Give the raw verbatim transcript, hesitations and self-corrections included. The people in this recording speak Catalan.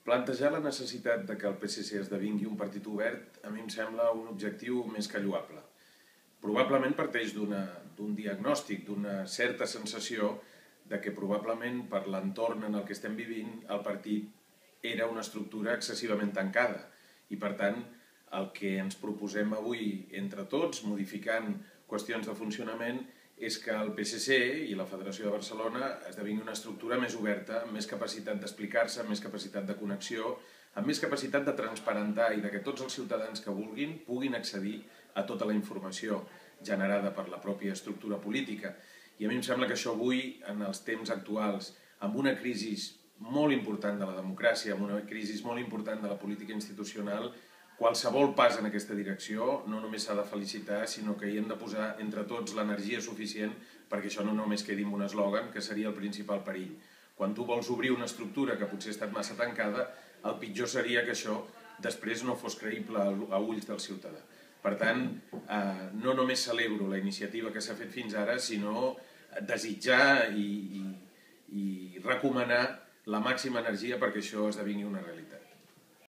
Plantejar la necessitat de que el P S C esdevingui un partit obert a mi em sembla un objectiu més que lloable. Probablement parteix d'un diagnòstic, d'una certa sensació de que probablement per l'entorn en el que estem vivint el partit era una estructura excessivament tancada i per tant el que ens proposem avui entre tots, modificant qüestions de funcionament, és que el P S C i la Federació de Barcelona esdevingui una estructura més oberta, amb més capacitat d'explicar-se, amb més capacitat de connexió, amb més capacitat de transparentar i de que tots els ciutadans que vulguin puguin accedir a tota la informació generada per la pròpia estructura política. I a mi em sembla que això avui, en els temps actuals, amb una crisi molt important de la democràcia, amb una crisi molt important de la política institucional, qualsevol pas en aquesta direcció no només s'ha de felicitar, sinó que hi hem de posar entre tots l'energia suficient perquè això no només quedi en un eslògan, que seria el principal perill. Quan tu vols obrir una estructura que potser ha estat massa tancada, el pitjor seria que això després no fos creïble a ulls del ciutadà. Per tant, no només celebro la iniciativa que s'ha fet fins ara, sinó desitjar i recomanar la màxima energia perquè això esdevingui una realitat.